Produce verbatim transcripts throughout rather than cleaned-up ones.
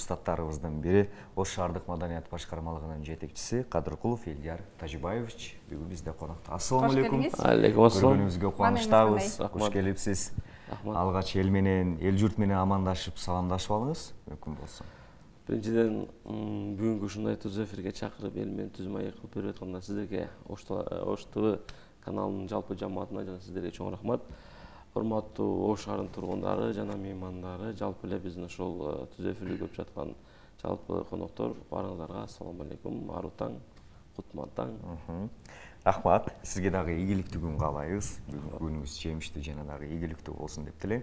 супстаттарыбыздын бири Ош шаардык маданият башкармалыгынын жетекчиси Кадыркулов Элдияр Тажибаевич бүгүн бизде конокто. Ассаламу алейкум. Алейкум ассалам. Көргөнүңүзгө кубанычтабыз. Кош келипсиз. Алгач эл менен, эл журт менен амандашып, саламдашып алыңыз, мүмкүн болсо. Биринчиден, бүгүнкү ушундай түз эфирге чакырып, эл менен түз маек кылып берип атканда сиздерге Ош ТВ каналынын жалпы жамаатына жана сиздерге чоң рахмат. Урматтуу Ош шаарынын тургундары жана меймандары, жалпы эле биздин ошол түз эфирди көрүп жаткан жалпы коноктор, баарыңыздарга ассаламу алейкум, аруу таң, кутман таң. Рахмат, сизге дагы ийгиликтүү күн каалайбыз. Бүгүнкү күнүңүз жемиштүү жана дагы ийгиликтүү болсун деп тилейм.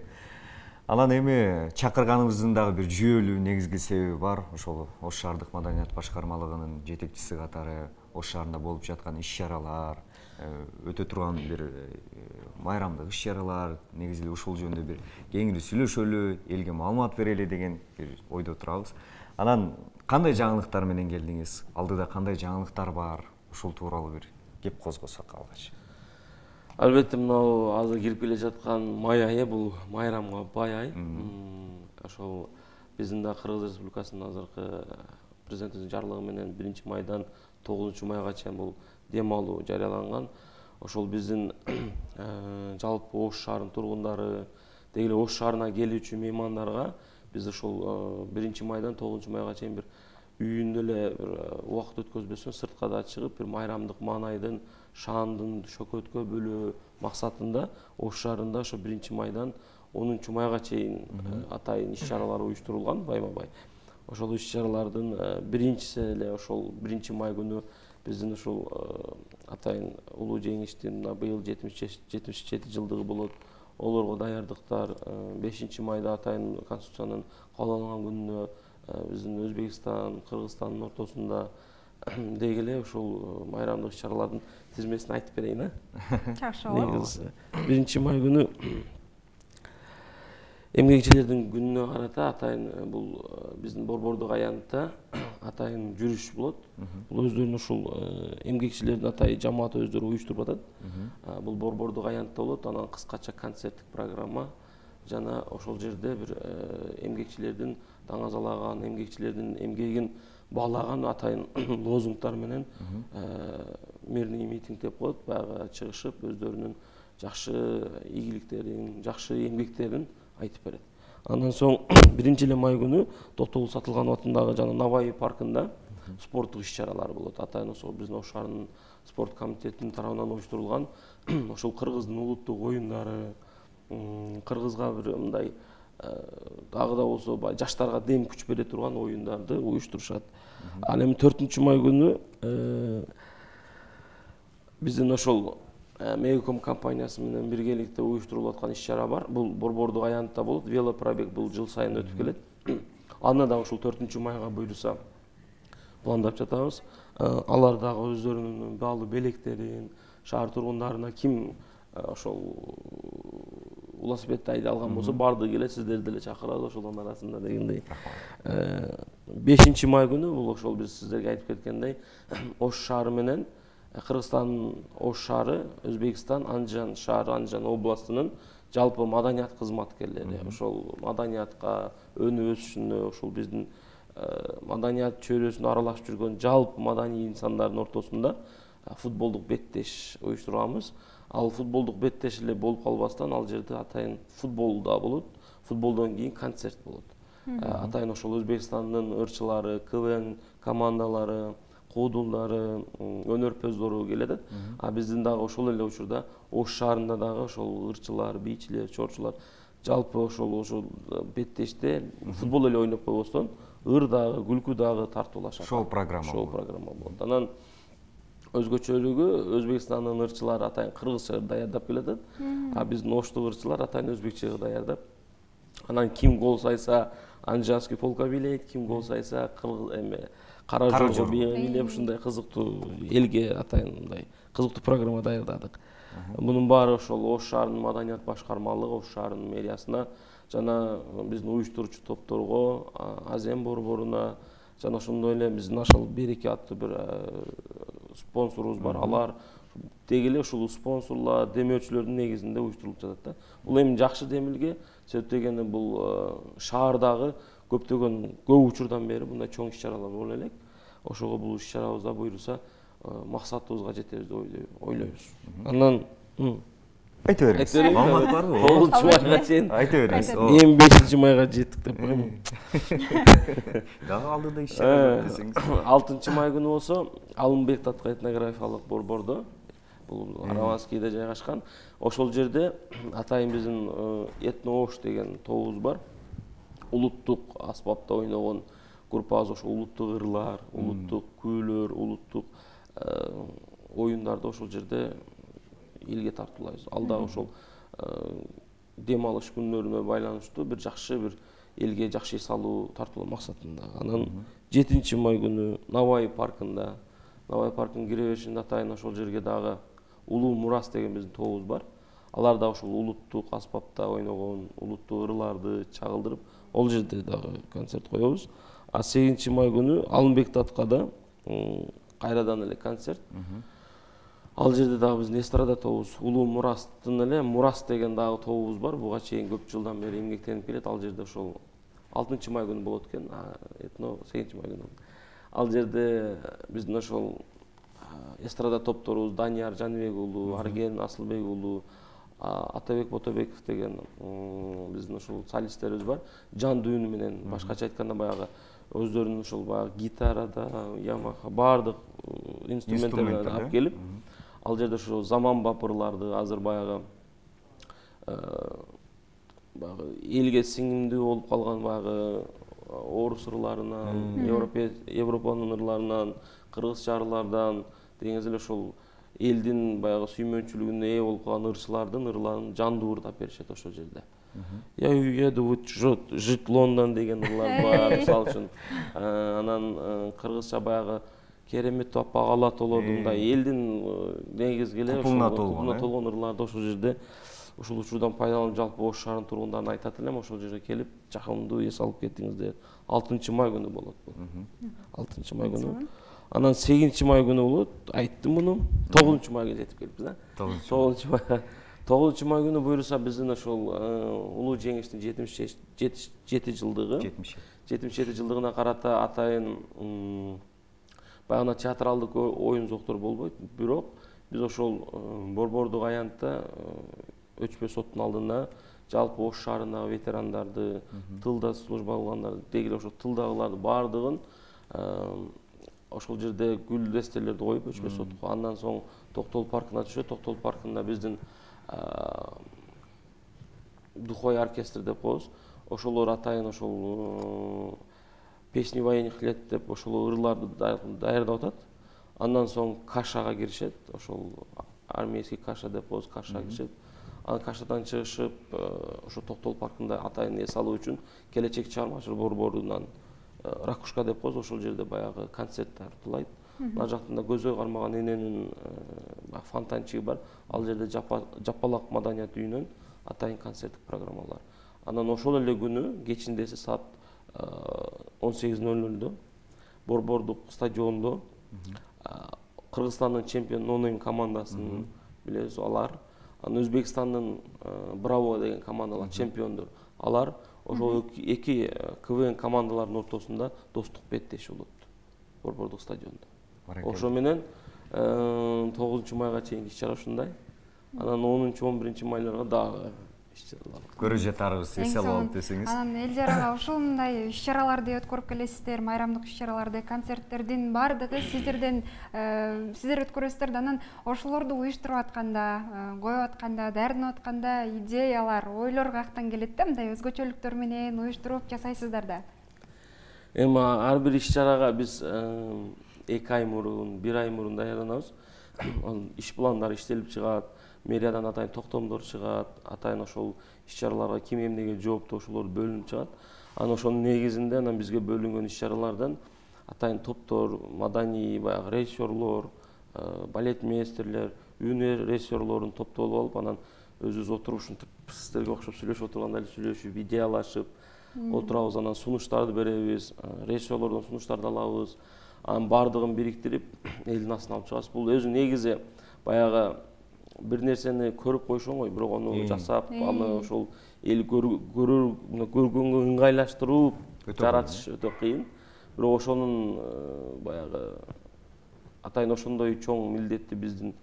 Анан эми чакырганыбыздын дагы бир жүйөлүү негизги себеби бар. Ошол Ош шаардык маданият башкармалыгынын жетекчиси катары Ош шаарында болуп жаткан иш-чаралар, өтө турган бир майрамдык иш-чаралар, негизи эле ушул жөнүндө бир кеңири сүйлөшөлү, элге маалымат берели деген бир ойдо турабыз. Анан кандай жаңылыктар менен келдиңиз? Алдыда кандай жаңылыктар бар? Ушул тууралуу бир кеп козгосок алгач. Албетте, мынау азыр кирип келе жаткан май айы бул майрамга бай ай. Ошол биздин да Кыргыз Республикасынын азыркы президентибиздин жарлыгы менен биринчи майдан тогузунчу майга чейин бул дем алуу жарыяланган. Ошол биздин жалпы Ош шаарынын тургундары, деги эле Ош шаарына келүүчү меймандарга биз ошол биринчи майдан тогузунчу майга чейин бир үйүндө эле бир убакыт өткөзбөстөн сыртка да чыгып, бир майрамдык маанайдын, шаандын шөкөткө бөлөө максатында Ош шаарында ошо биринчи майдан онунчу майга чейин атайын иш-чаралар уюштурулган байма-бай. Ошол иш-чаралардын биринчиси эле ошол биринчи май күнү биздин ушул атайын улуу жеңиштин быйыл жетимиш жети жылдыгы болот. Олорго даярдыктар, бешинчи майда атайын конституциянын кабыл алынган күнүнө биздин Өзбекстан, Кыргызстандын ортосунда деги эле ушул майрамдык иш-чаралардын тизмесин айтып берейин, а? Жакшы болот. биринчи май күнү эмгекчилердин күнүнө карата атайын бул биздин Борбордук аянтта атайын жүрүш болот. Бул өздөрүнүн ушул эмгекчилердин атайын жамааты өздөрү уюштуруп атат. Бул Борбордук аянтта болот, анан кыскача концерттик программа жана ошол жерде бир эмгекчилердин даңазалаган, эмгекчилердин эмгегин баалаган атайын лозунгтар менен мирный митинг деп коет, баягы чыгышып, өздөрүнүн жакшы ийгиликтерин, жакшы эмгектерин айтып берет. Андан соң биринчи эле май күнү Токтогул Сатылганов атындагы жана Наваи паркында спорттук иш-чаралар болот. Атайын ошол биздин Ош шаарынын спорт комитетинин тарабынан уюштурулган ошол кыргыздын улуттук оюндары, кыргызга бир мындай дагы да болсо жаштарга дем күч бере турган оюндарды уюштурушат. Ал эми төртүнчү май күнү биздин ошол Мегаком компаниясы менен биргеликте уюштурулуп аткан иш-чара бар. Бул Борбордук аянтта болот. Велопробег бул жыл сайын өтүп келет. Аны да ушул төртүнчү майга буйруса пландап жатабыз. Алар дагы өздөрүнүн баалуу белектерин, шаар тургундарына ким ошол велосипедди айдай алган болсо баардыгы келет, сиздерди деле чакырабыз ошолордун арасында дегендей. бешинчи май күнү бул ошол биз сиздерге айтып кеткендей Ош шаары менен Кыргызстандын Ош шаары, Өзбекстан, Анжан шаары, Анжан областынын жалпы маданият кызматкерлери, ошол маданиятка өнүп өсүшүнө, ошол биздин маданият чөйрөсүндө аралашып жүргөн жалпы маданий инсандардын ортосунда футболдук беттеш уюштурганбыз. Ал футболдук беттеш эле болуп калбастан ал жерде атайын футбол да болот. Футболдон кийин концерт болот. Атайын ошол Өзбекстандын ырчылары, КВН командалары, куудулдары, өнөрпөздөрү келет. А биздин дагы ошол эле учурда Ош шаарында дагы ошол ырчылар, бийчилер, чорчулар жалпы ошол ошол беттеште футбол эле ойноп койбостон ыр дагы, күлкү дагы тартуулашат. Шоу программа. Шоу программа болот. Анан өзгөчөлүгү Өзбекстандын ырчылары атайын кыргызча даярдап келет, а биздин Оштук ырчылар атайын өзбекче даярдап. Анан ким гол сайса Анжанский полка бийлейт, ким гол сайса эме Кара Жорго бийлеп, ушундай кызыктуу элге атайын мындай кызыктуу программа даярдадык. Мунун баары ошол Ош шаарынын маданият башкармалыгы, Ош шаарынын мэриясына жана биздин уюштуруучу топторго, Азем борборуна жана ошондой эле биздин Ашал Береке аттуу бир спонсорубуз бар. Алар деги эле ушул спонсорлор, демөөчүлөрдүн негизинде уюштурулуп жатат да. Бул эми жакшы демилге, себеп дегенде бул шаардагы көптөгөн көп учурдан бери мындай чоң иш-чаралар боло элек. Ошого бул иш-чарабызда буюрса максатыбызга жетебиз деп ойлойбуз. Андан айта бериңиз. Маалымат барбы? тогузунчу майга чейин айта бериңиз. эми бешинчи майга жеттик деп коем. Дагы алдыда иш-чара десеңиз. алтынчы май күнү болсо Алымбек татык этнографиялык борбордо, бул Араванскийде жайгашкан. Ошол жерде атайын биздин этно-ош деген тобубуз бар. Улуттук аспапта ойногон группабыз ошо улуттук ырлар, улуттук күүлөр, улуттук оюндарды ошол жерде элге тартуулайбыз. Ал дагы ошол дем алыш күнлөрүнө байланыштуу бир жакшы бир элге жакшы эс алуу тартуулоо максатында. Анан жетинчи май күнү Навай паркында, Навай паркынын кире беришинде атайын ошол жерге дагы Улуу Мурас деген биздин тобубуз бар. Алар да ошол улуттук аспапта ойногон улуттук ырларды чагылдырып, ол жерде дагы концерт коебуз. А сегизинчи май күнү Алымбек Таткада кайрадан эле концерт. Ал жерде дагы биздин эстрада тобубуз Улуу Мурастын эле Мурас деген дагы тобубуз бар. Буга чейин көп жылдан бери эмгектенип келет. Ал жерде ошол алтынчы май күнү болот экен. Этно сегизинчи май күнү. Ал жерде биздин ошол эстрада топторубуз Данияр Жаныбек уулу, Арген Асылбек уулу, Атабек Ботобеков деген биздин ошол солисттерибиз бар. Жан дүйүнү менен, башкача айтканда баягы өздөрүнүн ошол баягы гитарада, Ямаха баардык инструменттерди алып келип, ал жерде ошо заманбап ырларды азыр баягы баягы элге сиңимдүү болуп калган баягы орус ырларынан, Европанын ырларынан, кыргызча ырлардан дегенде эле ошол элдин баягы сүймөнчүлүгүнө ээ болуп калган ырчылардын ырларын жандуу ырдап беришет ошол жерде. Я уеду жить в Лондон деген ырлар бар, мисалы үчүн. Анан кыргызча баягы керемет аппак ала толоду мындай элдин негизги эле ошол толгон ырларды ошол жерде ушул учурдан пайдаланып жалпы Ош шаарынын тургундарына айтат элем, ошол жерге келип жакындуу эс алып кеттиңиздер. алтынчы май күнү болот бул. алтынчы май күнү. Анан сегизинчи май күнү болот. Айттым муну. тогузунчу майга жетип келиппиз, а? тогузунчу майга. тогузунчу май күнү буюрса биздин ошол улуу жеңиштин жетимиш жети жылдыгы. жетимиш жети жылдыгына карата атайын баягы театралдык оюн зоктор болбойт, бирок биз ошол борбордук аянтта өчпө соттун алдына жалпы Ош шаарындагы ветерандарды, тылда служба кылгандарды, деги ошо тылдагыларды баардыгын ошол жерде гүл дестелерди коюп өчпө сотко. Андан соң Токтол паркына түшөт. Токтол паркында биздин духовой оркестр деп коебуз. Ошолор атайын ошол песни военных лет деп ошол ырларды даярдап атат. Андан соң кашага киришет. Ошол армейский каша деп коебуз, кашага киришет. Анан кашадан чыгышып, ошо Токтол паркында атайын эс алуу үчүн келечек чыгармачылык борборунан Ракушка деп коебуз, ошол жерде баягы концерт тартуулайт. Мына жактында көзгө кармаган эненин фонтанчыгы бар. Ал жерде Жапалак маданият үйүнөн атайын концерттик программалар. Анан ошол эле күнү кечинде саат он сегиз ноль нольдо борбордук стадиондо Кыргызстандын чемпион нонейм командасын билебиз, алар. Анан Өзбекстандын Браво деген командалар чемпиондор. Алар ошол эки КВН командаларынын ортосунда достук беттеши болот борбордук стадиондо. Ошо менен тогузунчу майга чейинки иш-чара ушундай. Анан онунчу он биринчи майларга дагы иш-чаралар. Көрө жатарыбыз эс алып десеңиз. Анан эл жарага ушундай иш-чараларды өткөрүп келесиздер, майрамдык иш-чараларды, концерттердин баардыгы сиздерден сиздер өткөрөсүздөр. Анан ошолорду уюштуруп атканда, коюп атканда, даярданып атканда идеялар, ойлор каяктан келет да, мындай өзгөчөлүктөр менен уюштуруп жасайсыздар да. Эми ар бир иш-чарага биз эки ай мурун, бир ай мурун даярданабыз. Иш пландары иштелип чыгат, мэриядан атайын токтомдор чыгат, атайын ошол иш-чараларга ким эмнеге жооптуу ошолор бөлүнүп чыгат. Анан ошонун негизинде анан бизге бөлүнгөн иш-чаралардан атайын топтор, маданий баягы режиссерлор, балет мейстерлер, үнөр режиссерлорун топтолуп алып, анан өзүбүз отуруп ушинтип сиздерге окшоп сүйлөшүп отурганда эле сүйлөшүп, идеялашып отурабыз. Анан сунуштарды беребиз, режиссерлордон сунуштарды алабыз. Анын баардыгын бириктирип, элдин астына алып чыгабыз. Бул өзү негизи баягы бир нерсени көрүп коюш оңой, бирок аны жасап, аны ошол эл көргөнгө ыңгайлаштырып, жаратыш өтө кыйын. Бирок ошонун баягы атайын ошондой чоң милдетти биздин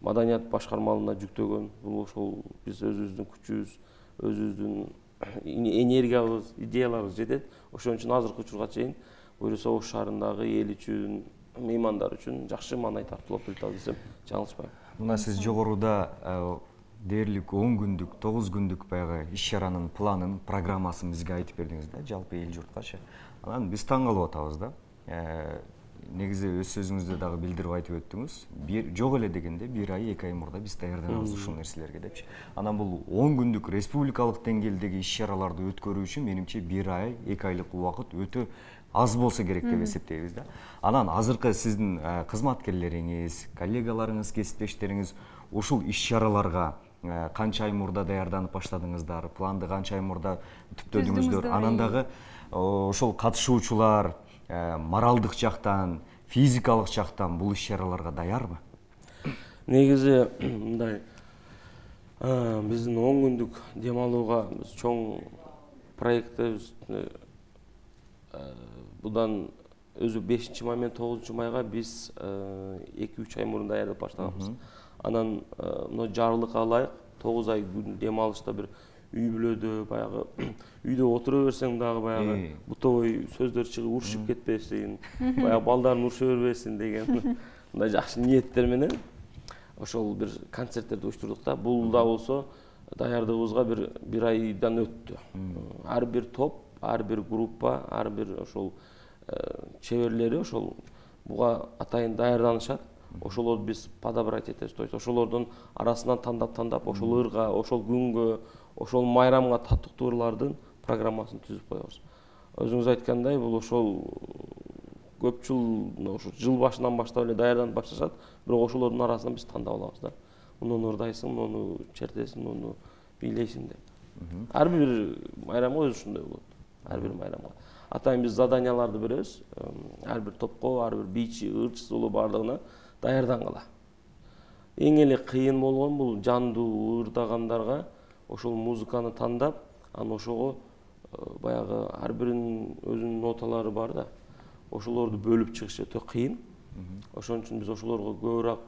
маданият башкармалыгына жүктөгөн. Бул ошол биз өзүбүздүн күчүбүз, өзүбүздүн энергиябыз, идеяларыбыз жетет. Ошон үчүн азыркы учурга чейин буюрса Ош шаарындагы эл үчүн, меймандар үчүн жакшы маанай тартуулап келатабыз десем жаңылышпайм. Мына сиз жогоруда дээрлик он күндүк, тогуз күндүк баягы иш-чаранын планын, программасын бизге айтып бердиңиз да, жалпы эл журткачы. Анан биз таң калып атабыз да. Негизи өз сөзүңүздө дагы билдирип айтып өттүңүз. Бир жок эле дегенде бир ай, эки ай мурда биз даярданабыз ушул нерселерге депчи. Анан бул он күндүк республикалык деңгээлдеги иш-чараларды өткөрүү үчүн менимче бир ай, эки айлык убакыт өтө аз болсо керек деп эсептейбиз да. Анан азыркы сиздин кызматкерлериңиз, коллегаларыңыз, кесиптештериңиз ушул иш-чараларга канча ай мурда даярданып баштадыңыздар, планды канча ай мурда түптөдүңүздөр? Анан дагы ошол катышуучулар моралдык жактан, физикалык жактан бул иш-чараларга даярбы? Негизи мындай, биздин он күндүк дем алууга биз чоң проектибиз будан өзү бешинчи май менен тогузунчу майга биз эки үч ай мурун даярдап баштаганбыз. Анан мына жарлыкка ылайык тогуз ай дем алышта бир үй бүлөдө баягы үйдө отура берсең дагы баягы бутовой сөздөр чыгып урушуп кетпесин, баягы балдарын уруша бербесин деген мындай жакшы ниеттер менен ошол бир концерттерди уюштурдук да. Бул да болсо даярдыгыбызга бир бир айдан өттү. Ар бир топ, ар бир группа, ар бир ошол чеберлери ошол буга атайын даярданышат. Ошолорду биз подобрать этебиз. То есть ошолордун арасынан тандап-тандап ошол ырга, ошол күнгө, ошол майрамга татыктуу ырлардын программасын түзүп коебуз. Өзүңүз айткандай, бул ошол көп жыл ошо жыл башынан баштап эле даярданып башташат, бирок ошолордун арасынан биз тандап алабыз да. Муну ырдайсың, муну чертесиң, муну бийлейсиң деп. Ар бир майрамга өзү ушундай болот. Ар бир майрамга. Атайын биз заданияларды беребиз. Ар бир топко, ар бир бийчи, ырчысы болуп баардыгына даярдангыла. Эң эле кыйын болгон бул жандуу ырдагандарга ошол музыканы тандап, анан ошого баягы ар биринин өзүнүн ноталары бар да. Ошолорду бөлүп чыгыш өтө кыйын. Ошон үчүн биз ошолорго көбүрөөк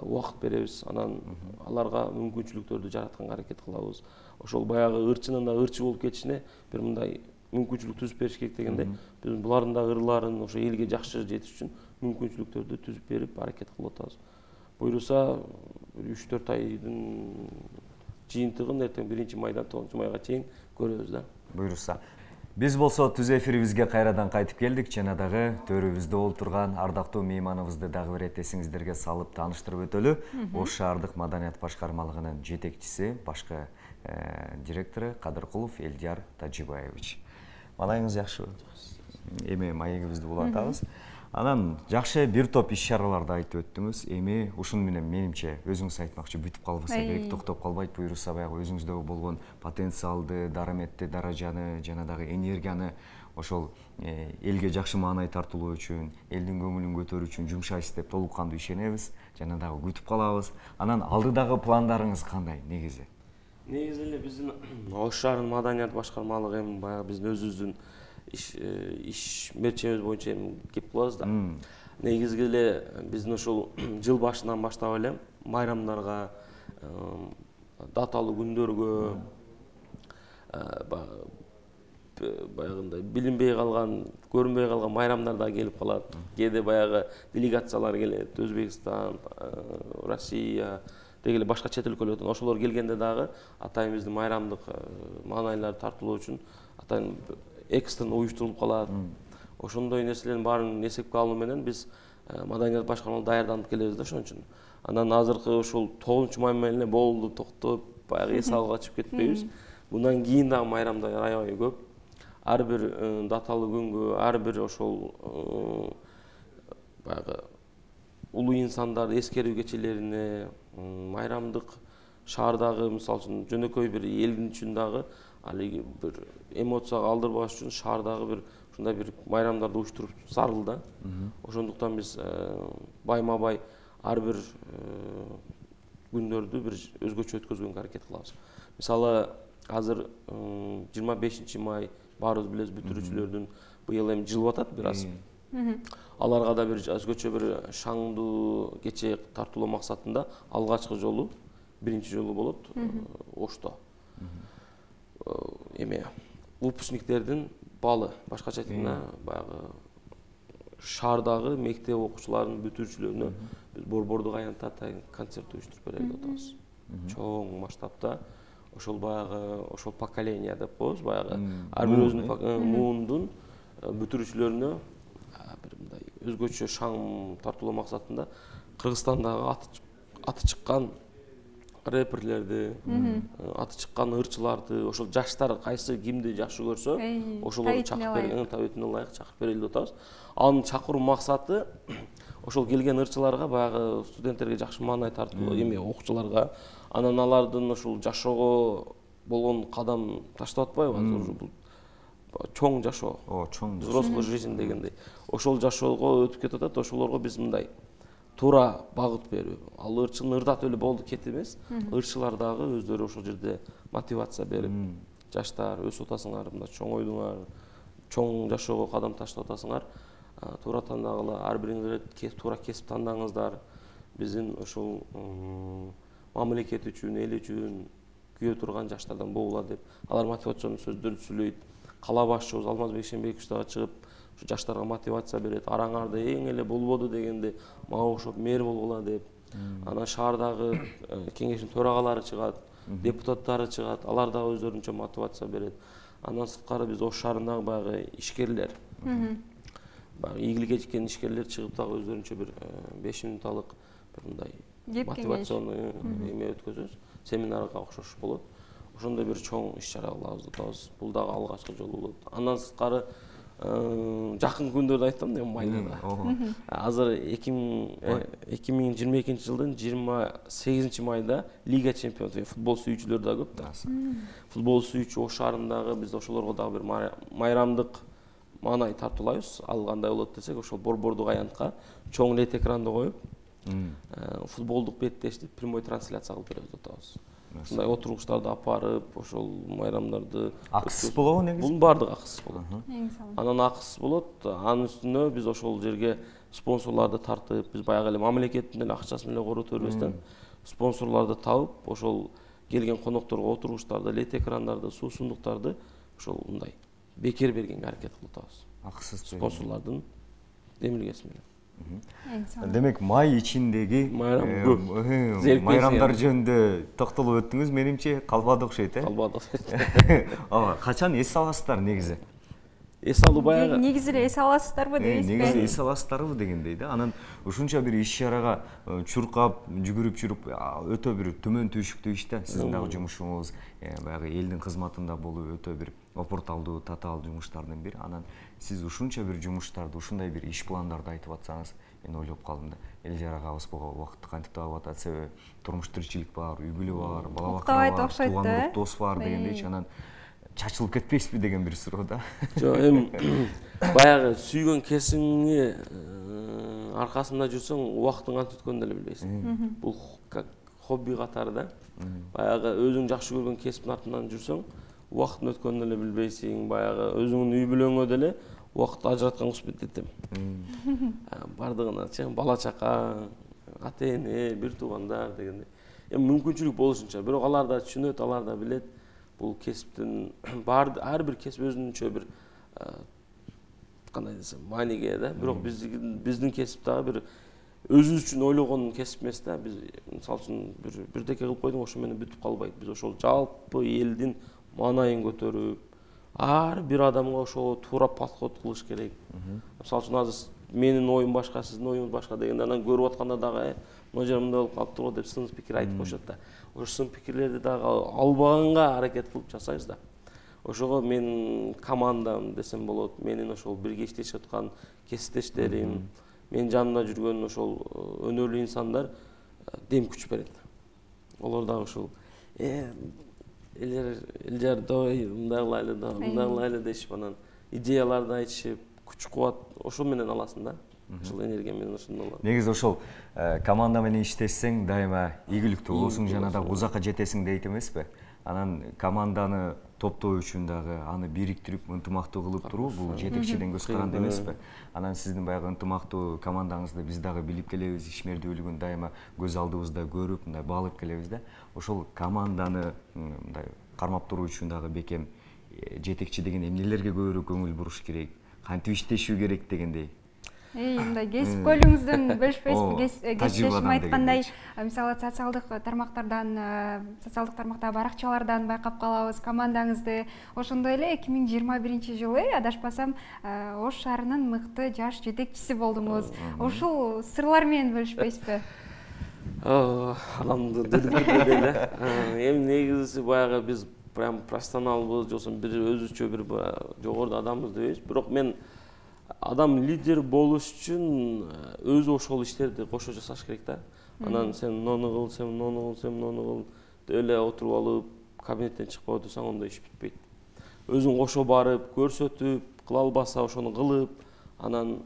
убакыт беребиз. Анан аларга мүмкүнчүлүктөрдү жаратканга аракет кылабыз. Ошол баягы ырчынын да ырчы болуп кетишине бир мындай мүмкүнчүлүк түзүп бериш керек дегенде, биз булардын да ырларын ошо элге жакшы жетиш үчүн мүмкүнчүлүктөрдү түзүп берип аракет кылып атабыз. Буюрса үч төрт айдын жыйынтыгын эртең биринчи майдан тогузунчу майга чейин көрөбүз да. Буюрса. Биз болсо түз эфирибизге кайрадан кайтып келдик. Жана дагы төрүбүздө олтурган ардактуу мейманыбызды дагы бир эте эсиңиздерге салып тааныштырып өтөлү. Ош шаардык маданият башкармалыгынын жетекчиси, башкы директору Кадыркулов Элдияр Тажибаевич. Маанайыңыз жакшыбы? Эми маегибизди улантабыз. Анан жакшы бир топ иш-чараларды айтып өттүңүз. Эми ушуну менен менимче өзүңүз айтмакчы бүтүп калбаса керек, токтоп калбайт. Буюрса баягы өзүңүздө болгон потенциалды, дараметти даражаны жана дагы энергияны ошол элге жакшы маанай тартуулоо үчүн, элдин көңүлүн көтөрүү үчүн жумшайсыз деп толук кандуу ишенебиз. Жана дагы күтүп калабыз. Анан алдыдагы пландарыңыз кандай негизи? Негизи эле биздин Ош шаарынын маданият башкармалыгы эми баягы биздин өзүбүздүн иш иш мерчебиз боюнча эми кеп кылабыз да. Негизги эле биздин ошол жыл башынан баштап эле майрамдарга, даталуу күндөргө, баягындай билинбей калган, көрүнбөй калган майрамдар да келип калат. Кээде баягы делегациялар келет, Өзбекстан, Россия, деги эле башка чет өлкөлөрдөн. Ошолор келгенде дагы атайын биздин майрамдык маанайларды тартуулоо үчүн атайын экстрен уюштурулуп калат. Ошондой нерселердин баарын эсепке алуу менен биз маданият башкармалыгы даярданып келебиз да ошон үчүн. Анан азыркы ошол тогузунчу май менен эле болду, токтоп, баягы эс алып качып кетпейбиз. Мындан кийин дагы майрамдар аябай көп. Ар бир даталуу күнгө, ар бир ошол баягы улуу инсандарды эскерүү кечелерине, майрамдык шаардагы мисалы үчүн жөнөкөй бир элдин үчүн дагы алиги бир эмоцияга алдырбаш үчүн шаардагы бир ушундай бир майрамдарды уюштуруп зарыл да. Ошондуктан биз байма-бай ар бир күндөрдү бир өзгөчө өткөзгөнгө аракет кылабыз. Мисалы азыр жыйырма бешинчи май, баарыбыз билебиз бүтүрүүчүлөрдүн быйыл эми жылып атат бир аз. Аларга да бир өзгөчө бир шаңдуу кече тартуулоо максатында алгачкы жолу биринчи жолу болот Ошто. Эме выпускниктердин балы, башкача айтканда баягы шаардагы мектеп окуучуларынын бүтүрүүчүлөрүнө биз борбордук аянтта атайын концерт уюштуруп берели деп атабыз. Чоң масштабта ошол баягы ошол поколение деп коебуз, баягы ар бир өзүнүн муундун бүтүрүүчүлөрүнө бир мындай өзгөчө шаң тартуулоо максатында Кыргызстандагы аты чыккан рэперлерди, аты чыккан ырчыларды, ошол жаштар кайсы кимди жакшы көрсө, ошолорду чакырып берген, табитине ылайык чакырып берели деп атабыз. Анын чакыруу максаты ошол келген ырчыларга баягы студенттерге жакшы маанай тартуу, эми окуучуларга, анан алардын ошол жашоого болгон кадам таштап атпайбы азыр бул чоң жашоо. О, чоң взрослый жизнь дегендей. Ошол жашоого өтүп кетип атат, ошолорго биз мындай туура багыт берүү. Ал ырчыны ырдатып эле болду кетип эмес, ырчылар дагы өздөрү ошол жерде мотивация берип, жаштар өсүп атасыңар, мындай чоң ойдуңар, чоң жашоого кадам таштап атасыңар, туура тандагыла, ар бириңер туура кесип тандаңыздар. Биздин ошол мамлекет үчүн, эл үчүн күйө турган жаштардан болгула деп алар мотивациондуу сөздөрдү сүйлөйт. Кала башчыбыз Алмазбек Шенбекович дагы чыгып жаштарга мотивация берет. Араңарды эң эле болбоду дегенде мага окшоп мэр болгула деп. Анан шаардагы кеңештин төрагалары чыгат, депутаттары чыгат, алар дагы өздөрүнчө мотивация берет. Андан сырткары биз Ош шаарындагы баягы ишкерлер, баягы ийгиликке жеткен ишкерлер чыгып дагы өздөрүнчө бир беш минутталык бир мындай мотивационный эме өткөзөбүз. Семинарга окшош болот. Ошондой бир чоң иш-чара кылабыз деп атабыз. Бул дагы алгачкы жолу болот. Андан сырткары жакын күндөрдө айттым да, майда. Азыр эки миң жыйырма экинчи жылдын жыйырма сегизинчи майда Лига чемпионов, футбол сүйүүчүлөр да көп да. Футбол сүйүүчү Ош шаарындагы биз ошолорго дагы бир майрамдык маанай тартуулайбыз. Ал кандай болот десек, ошол борбордук аянтка чоң лед экранды коюп, футболдук беттешти прямой трансляция кылып беребиз деп атабыз. Ушундай отургучтарды апарып, ошол майрамдарды акысыз болобу негизи? Бунун баардыгы акысыз болот. Анан акысыз болот, анын үстүнө биз ошол жерге спонсорлорду тартып, биз баягы эле мамлекеттин эле акчасы менен корото бербестен спонсорлорду табып, ошол келген конокторго отургучтарды, лед экрандарды, суусундуктарды ошол мындай бекер бергенге аракет кылып атабыз. Акысыз спонсорлордун демилгеси менен. Демек май ичиндеги майрамдар жөнүндө токтолуп өттүңүз, менимче калбады окшойт, э? Калбады. Ооба, качан эс аласыздар негизи? Эс алуу баягы негизи эле эс аласыздарбы дейсизби? Негизи эс аласыздарбы дегендей да. Анан ушунча бир иш-чарага чуркап, жүгүрүп жүрүп, өтө бир төмөн түйшүктүү иш да. Сиздин дагы жумушуңуз баягы элдин кызматында болуу өтө бир опурталдуу, татаал жумуштардын бири. Анан сиз ушунча бир жумуштарды, ушундай бир иш пландарды айтып атсаңыз, мен ойлоп калдым да. Элжар агабыз буга убакытты кантип таап атат, себеби турмуш тиричилик бар, үй бүлө бар, бала бакча бар, тууган дос бар дегендейчи. Анан чачылып кетпейсизби деген бир суроо да. Жок, эми баягы сүйгөн кесиңи аркасында жүрсөң, убакыттын кантип өткөнүн деле билбейсиң. Бул как хобби катары да. Баягы өзүң жакшы көргөн кесиптин артынан жүрсөң, убакыттын өткөнүн деле билбейсиң. Баягы өзүңдүн үй бүлөңө деле убакыт ажыраткан кызмет этем. Бардыгыначы бала чака, ата-эне, бир туугандар дегендей. Эми мүмкүнчүлүк болушунча, бирок алар да түшүнөт, алар да билет. Бул кесиптин бар ар бир кесип өзүнчө бир кандай десем, мааниге да. Бирок биздин биздин кесип дагы бир өзүбүз үчүн ойлогон кесип эмес да. Биз мисалы үчүн бир бирдеке кылып койдуң, ошо менен бүтүп калбайт. Биз ошол жалпы элдин маанайын көтөрүп, ар бир адамга ошого туура подход кылыш керек. Мисалы үчүн азыр менин оюм башка, сиздин оюңуз башка дегенде анан көрүп атканда дагы мына жер мындай болуп калыптыр го деп сын пикир айтып коюшат да. Ошо сын пикирлерди дагы албаганга аракет кылып жасайбыз да. Ошого менин командам десем болот, менин ошол бирге иштешип аткан кесиптештерим, менин жанымда жүргөн ошол өнөрлүү инсандар дем күч берет. Олар дагы ошол Элжар дой, мындай кылайлы да, мындай кылайлы дешип, анан идеяларды айтышып, күч кубат ошол менен аласың да. Ошол энергия менен ошондой алат. Негизи ошол команда менен иштешсең, дайыма ийгиликтүү болосуң жана да узакка жетесиң дейт эмеспи? анан команданы топтоо үчүн дагы аны бириктирип ынтымактуу кылып туруу бул жетекчиден көз каранды эмеспи? Анан сиздин баягы ынтымактуу командаңызды биз дагы билип келебиз, ишмердүүлүгүн дайыма көз алдыбызда көрүп, мындай баалып келебиз да. Ошол команданы мындай кармап туруу үчүн дагы бекем жетекчи деген эмнелерге көбүрөөк көңүл буруш керек, кантип иштешүү керек дегендей. Мындай кесип көйлүңүздөн бөлүшпөйсүзбү? Кесиптешим айткандай, мисалы социалдык тармактардан, социалдык тармактагы баракчалардан байкап калабыз командаңызды. Ошондой эле эки миң жыйырма биринчи жылы адашпасам Ош шаарынын мыкты жаш жетекчиси болдуңуз. Ушул сырлар менен бөлүшпөйсүзбү? Анамды деле эле. Эми негизиси баягы биз прям профессионалбыз, жоксо бир өзүчө бир жогоруда адамбыз дебейбиз. Бирок мен адам лидер болуш үчүн өзү ошол иштерди кошо жасаш керек да. Анан сен муну кыл, сен муну кыл, сен муну кыл деп эле отуруп алып, кабинеттен чыкпай отурсаң ондой иш бүтпөйт. Өзүң кошо барып, көрсөтүп, кыла албаса ошону кылып, анан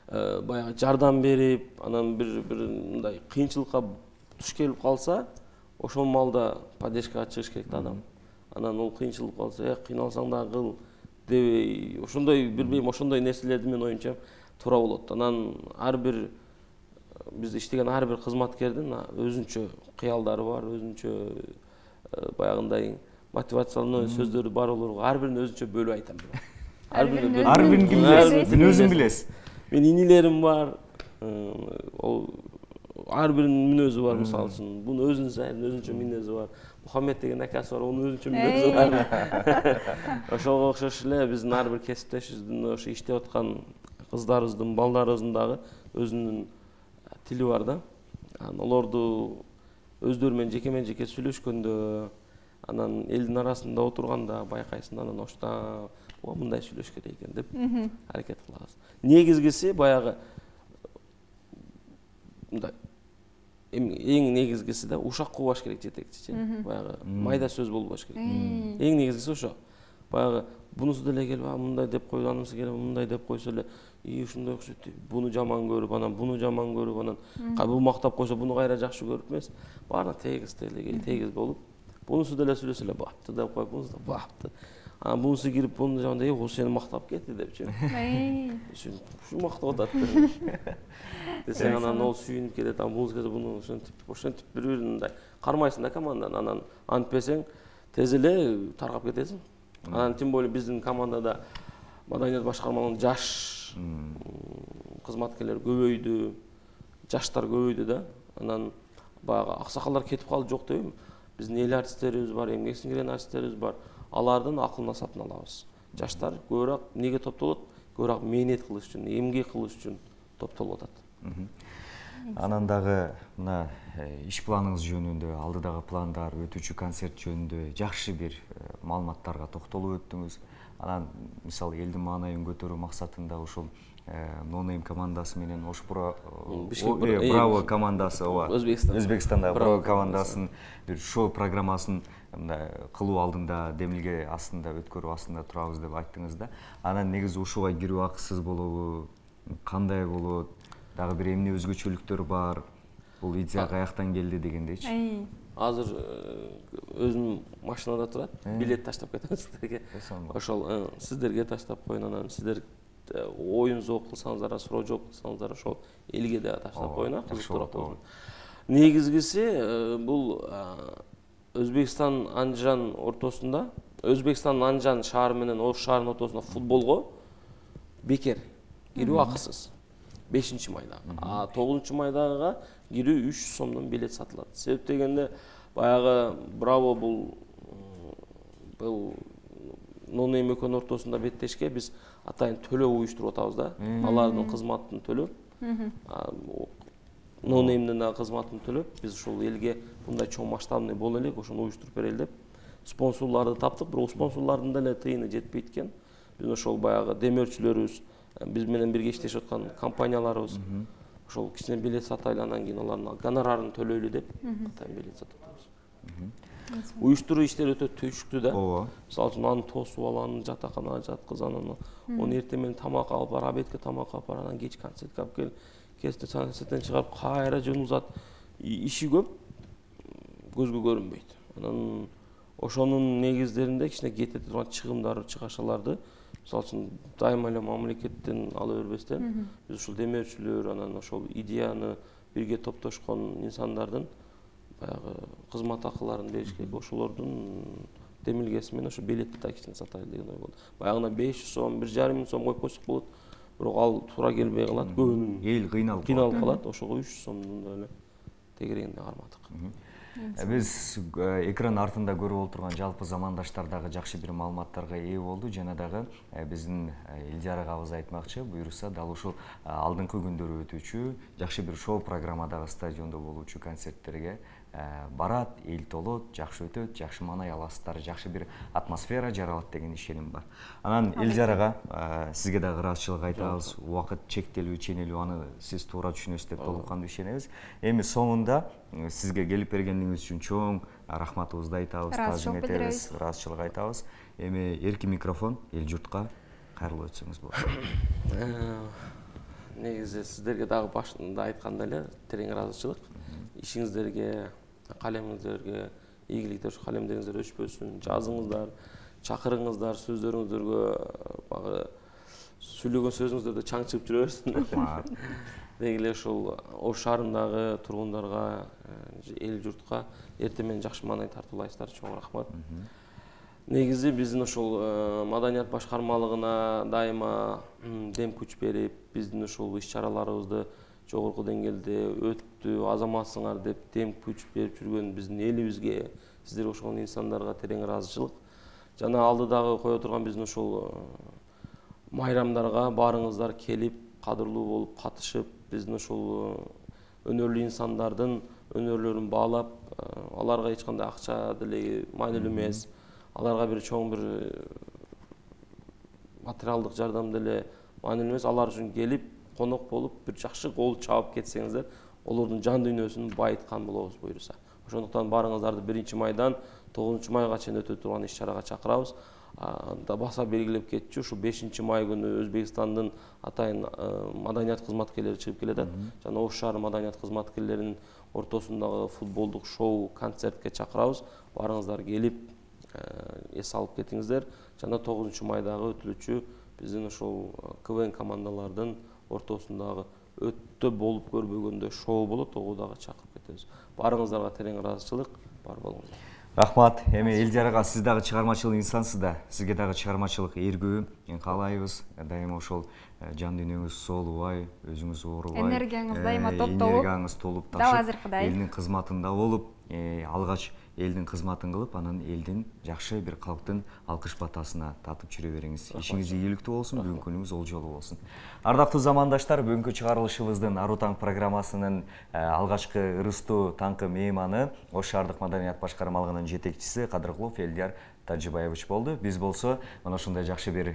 баягы жардам берип, анан бир бир мындай кыйынчылыкка туш келип калса, ошол маалда поддержкага чыгыш керек да адам. Анан ол кыйынчылык калса, э, кыйналсаң дагы кыл дебей, ошондой билбейм, ошондой нерселерди мен оюмча туура болот. Анан ар бир бизде иштеген ар бир кызматкердин өзүнчө кыялдары бар, өзүнчө баягындай мотивациялуу сөздөрү бар олорго ар бирин өзүнчө бөлүп айтам. Ар бирин билесиз, мен өзүм билесиз. Мен инилерим бар. Ол ар биринин мүнөзү бар, мисалы үчүн. Бунун өзүнүн өзүнчө мүнөзү бар. Мухаммед деген акасы бар, онун өзүнчө мүнөзү бар. Ошого окшош эле биздин ар бир кесиптешибиздин ошо иштеп аткан кыздарыбыздын, балдарыбыздын дагы өзүнүн тили бар да. Анан олорду өздөрү менен жеке жеке сүйлөшкөндө, анан элдин арасында отурганда байкайсың, анан ошто мындай сүйлөш керек экен деп аракет кылабыз. Негизгиси баягы мындай эң негизгиси да ушак кубаш керек жетекчи. Баягы майда сөз болбош керек. Эң негизгиси ошо. Баягы бунусу деле келип, мындай деп койду, анысы келип, мындай деп койсо эле, и ушундай окшойт деп, буну жаман көрүп, анан буну жаман көрүп, анан бул мактап койсо, буну кайра жакшы көрүп эмес, баары тегиз эле, тегиз болуп, бунусу деле сүйлөсө эле бапты деп коюп, бунусу да бапты. Анан бунусу кирип, буну жаман деп, "О, сени мактап кетти" депчи. Ушу мактап атат деп. Десең анан ол сүйүнүп кетет, анан бунусу келсе, буну ошентип, ошентип бири-бирин мындай кармайсың да команданы. Анан антпесең тез эле таркап кетесиң. Анан тем более биздин командада маданият башкармалыгынын жаш кызматкерлер көбөйдү, жаштар көбөйдү да. Анан баягы аксакалдар кетип калды жок дебейм. Биздин эл артисттерибиз бар, эмгек сиңирген артисттерибиз бар. Алардын акылына сатын алабыз. Жаштар көбүрөөк неге топтолот? Көбүрөөк мээнет кылыш үчүн, эмгек кылыш үчүн топтолуп атат. Анан дагы мына иш планыңыз жөнүндө, алдыдагы пландар, өтүүчү концерт жөнүндө жакшы бир маалыматтарга токтолуп өттүңүз. Анан мисалы элдин маанайын көтөрүү максатында ушул Нонейм командасы менен Ош Браво командасы, Өзбекстандагы Браво командасынын бир шоу программасын мындай кылуу алдында демилге астында өткөрүү астында турабыз деп айттыңыз да. Анан негизи ушуга кирүү акысыз болобу, кандай болот, дагы бир эмне өзгөчөлүктөр бар, бул идея каяктан келди дегендейчи. Азыр өзүм машинада турат, билет таштап кетем сиздерге. Ошол сиздерге таштап коюн, анан сиздер оюн зоо кылсаңыздар, суроо жооп кылсаңыздар, ошол элге да таштап коюн, кызыктырат болсун. Негизгиси бул Өзбекстан Анжан ортосунда, Өзбекстан Анжан шаары менен Ош шаарынын ортосунда футболго бекер кирүү акысыз. бешинчи майда. А тогузунчу майдага кирүү үч сомдон билет сатылат. Себеп дегенде баягы Браво бул бул Нонейм экөөнүн ортосунда беттешке биз атайын төлөө уюштуруп атабыз да. Алардын кызматын төлөп, Нонеймдин да кызматын төлөп, биз ушул элге мындай чоң масштабный боло элек, ошону уюштуруп берели деп спонсорлорду таптык, бирок спонсорлордун деле тыйыны жетпейт экен. Биз ошол баягы демөөрчүлөрүбүз, биз менен бирге иштешип аткан компанияларыбыз ошол кичине билет сатайлы, анан кийин алардын гонорарын төлөйлү деп атайын билет сатып атабыз. Уюштуруу иштери өтө түйшүктүү да. Ооба. Мисалы үчүн аны тосуп алып, аны жатаканага жаткыз, анан оны эртең менен тамак алып бар, обедке тамак алып бар, анан кеч концертке алып кел, кечте концерттен чыгарып кайра жөнүп узат. Иши көп, көзгө көрүнбөйт. анан ошонун негиздеринде кичине кете турган чыгымдар чыгашаларды мисалы үчүн дайыма эле мамлекеттен ала бербестен биз ушул демеушүлөр анан ошол идеяны бирге топтошкон инсандардын баягы кызмат акыларын бериш керек. Ошолордун демилгеси менен ошо билетти да кичине сатайлы деген ой болду. Баягына беш жүз сом, бир жарым миң сом коюп койсок болот. Бирок ал туура келбей калат. Көбүнүн эл кыйналып кыйналып калат. Ошого үч жүз сомдун да эле тегерегинде кармадык. Биз экран артында көрүп отурган жалпы замандаштар дагы жакшы бир маалыматтарга ээ болду. Жана дагы биздин Элдияр агабыз айтмакчы, буюрса дал ушул алдыңкы күндөрү өтүүчү жакшы бир шоу программадагы стадиондо болуучу концерттерге барат, эл толот, жакшы өтөт, жакшы маанай аласыздар, жакшы бир атмосфера жаралат деген ишеним бар. Анан Элдияр ага, сизге дагы ыраазычылык айтабыз. Убакыт чектелүү, ченелүү, аны сиз туура түшүнөсүз деп толук кандуу ишенебиз. Эми соңунда сизге келип бергениңиз үчүн чоң рахматыбызды айтабыз, таазим этебиз, ыраазычылык айтабыз. Эми эркин микрофон эл журтка кайрылып өтсөңүз болот. Негизи сиздерге дагы башында айткандай эле терең ыраазычылык. Ишиңиздерге, калемиңиздерге ийгиликтер, ушу калемдериңиздер өчпөсүн, жазыңыздар, чакырыңыздар, сөздөрүңүздөргө багы сүйлөгөн сөзүңүздөрдө чаң чыгып жүрө берсин. Деги эле ушул Ош шаарындагы тургундарга, эл журтка эртең менен жакшы маанай тартуулайсыздар. Чоң рахмат. Негизи биздин ушул маданият башкармалыгына дайыма дем күч берип, биздин ушул иш-чараларыбызды жогорку деңгээлде өттү, азаматсыңар деп дем күч берип жүргөн биздин элибизге, сиздерге окшогон инсандарга терең ыраазычылык. Жана алдыдагы кое турган биздин ушул майрамдарга баарыңыздар келип, кадырлуу болуп катышып, биздин ушул өнөрлүү инсандардын өнөрлөрүн баалап, аларга эч кандай акча деле маанилүү эмес, аларга бир чоң бир материалдык жардам деле маанилүү эмес, алар үчүн келип конок болуп бир жакшы кол чабып кетсеңиздер, олордун жан дүйнөсүн байыткан болобуз буюрса. Ошондуктан баарыңыздарды биринчи майдан тогузунчу майга чейин өтө турган иш-чарага чакырабыз. Да баса белгилеп кетчү, ушу бешинчи май күнү Өзбекстандын атайын маданият кызматкерлери чыгып келатат. Жана Ош шаары маданият кызматкерлеринин ортосундагы футболдук шоу концертке чакырабыз. Баарыңыздар келип эс алып кетиңиздер. Жана тогузунчу майдагы өтүлүүчү биздин ушул КВН командалардын ортосундагы өтө болуп көрбөгөндөй шоу болот, ого дагы чакырып кетебиз. Баарыңыздарга терең ыраазычылык, бар болуңуздар. Рахмат. Эми Элдияр ага, сиз дагы чыгармачыл инсансыз да. Сизге дагы чыгармачылык эргүү каалайбыз. Дайыма ошол жан дүйнөңүз соолубай, өзүңүз оорубай, энергияңыз дайыма топтолуп, энергияңыз толуп дал азыркыдай элдин кызматында болуп, алгач элдин кызматын кылып, анан элдин жакшы бир калктын алкыш батасына татып жүрө бериңиз. Ишиңиз ийгиликтүү болсун, бүгүнкү күнүңүз олжолуу болсун. Ардактуу замандаштар, бүгүнкү чыгарылышыбыздын Ару таң программасынын алгачкы ырыстуу таңкы мейманы Ош шаардык маданият башкармалыгынын жетекчиси Кадыркулов Элдияр Тажибаевич болду. Биз болсо мына ушундай жакшы бир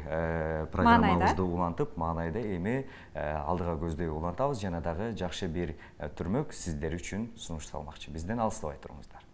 программабызды улантып, маанайда эми алдыга көздөй улантабыз, жана дагы жакшы бир түрмөк сиздер үчүн сунушталмакчы. Бизден алыстабай туруңуздар.